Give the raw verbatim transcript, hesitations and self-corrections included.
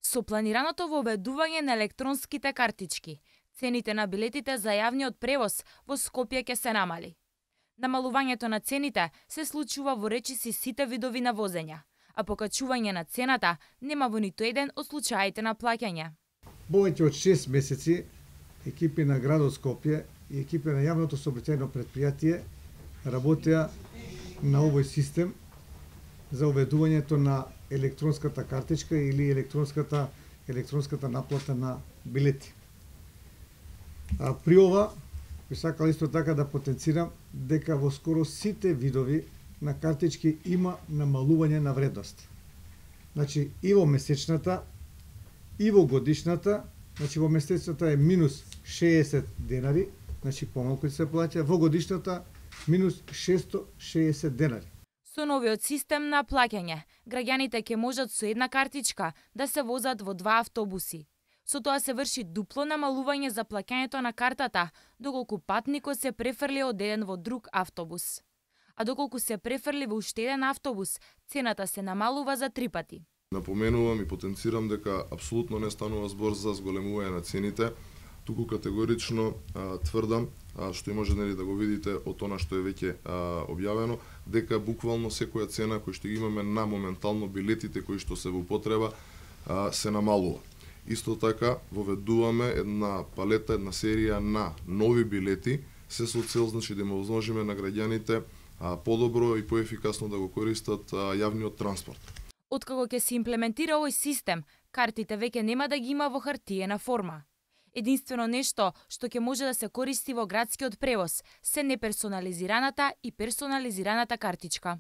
Со планираното воведување на електронските картички, цените на билетите за јавниот превоз во Скопје ќе се намали. Намалувањето на цените се случува во речиси сите видови на возење, а покачување на цената нема во ниту еден од случаите на плаќање. Повеќе од шест месеци екипи на градот Скопје и екипи на јавното сообраќајно претпријатие работеа на овој систем за уведувањето на електронската картичка или електронската електронската наплата на билети. А при ова би сакал исто така да потенцирам дека во скоро сите видови на картички има намалување на вредност. Значи и во месечната, и во годишната, значи во месечната е минус шеесет денари, значи помалку се плаќа, во годишната минус шесто шеесет денари. Со новиот систем на плаќање, граѓаните ќе можат со една картичка да се возат во два автобуси. Со тоа се врши дупло намалување за плаќањето на картата, доколку патникот се префрли од еден во друг автобус. А доколку се префрли во уште еден автобус, цената се намалува за три пати. Напоменувам и потенцирам дека апсолутно не станува збор за зголемување на цените, туку категорично а, тврдам, а, што и може нели да го видите од она што е веќе а, објавено, дека буквално секоја цена која што имаме на моментално билетите кои што се во употреба а, се намалува. Исто така воведуваме една палета, една серија на нови билети, се со цел значи да им возможиме на граѓаните а, подобро и поефикасно да го користат а, јавниот транспорт. Откако ќе се имплементира овој систем, картите веќе нема да ги има во хартиена форма. Единствено нешто што ќе може да се користи во градскиот превоз се неперсонализираната и персонализираната картичка.